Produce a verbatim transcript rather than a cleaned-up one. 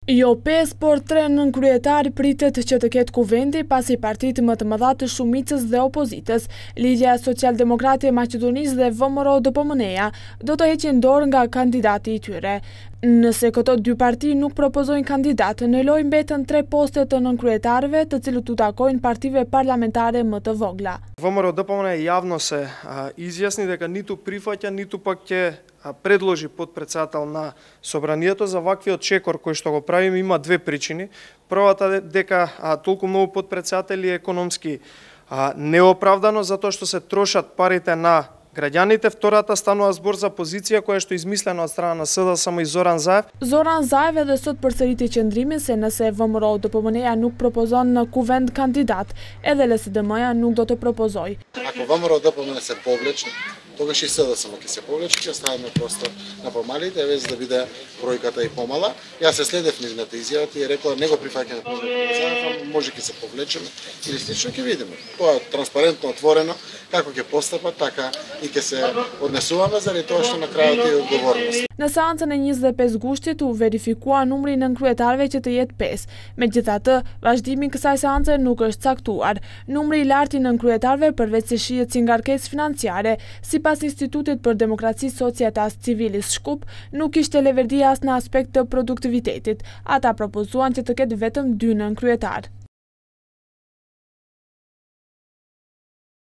Jo pesë, por tre nën kryetar pritet që të ketë kuvendi pasi partitë më të mëdha të shumicës dhe opozitës, Lidhja Social-Demokrate e Maqedonisë dhe V M R O D P M N-ja, do të heqin dorë nga kandidati i tyre. Nëse këto dy parti nuk propozojnë kandidat, në lojë mbeten tre poste të nënkryetarëve, të cilët u takojnë partive parlamentare më të vogla. V M R O D P M N јавно се изјасни дека ниту прифаќа, ниту пак ќе предложи подпредседател на собранието. За ваквиот чекор кој што го правиме има две причини. Првата дека а, толку многу подпредседатели е економски а, неоправдано затоа што се трошат парите на граѓаните. Втората станува збор за позиција која што е измислена од страна на С D S M и Зоран Заев. Зоран Заев edhe sot përsëriti qëndrimin se nëse V M R O D P M N-ja nuk propozon në kuvend kandidat, edhe L S D M-ja nuk do të propozoj. Ако V M R O D P M N се повлече, тогаш и С D S M ќе се повлече, ќе ставаме просто на помалите, веќе да биде бројката и помала. Јас се следев нивната изјава, ти е рекла не го прифаќаме Заев, може ќе се повлечеме или слично ќе видиме. Тоа е транспарентно, отворено, како ќе постапат, така и ќе се однесуваме заради тоа што на крајот е одговорност. Në seancën e njëzet e pesë gushtit u verifikua numri nënkryetarëve që të jetë pesë. Megjithatë, vazhdimi i kësaj seance nuk është caktuar. Numri i lartë i nënkryetarëve përveç se shihet si ngarkesë financiare, sipas Institutit për Demokraci Societas Civilis Shkup, nuk ishte leverdi as në aspekt të produktivitetit. Ata propozuan që të ketë vetëm dy nënkryetarë.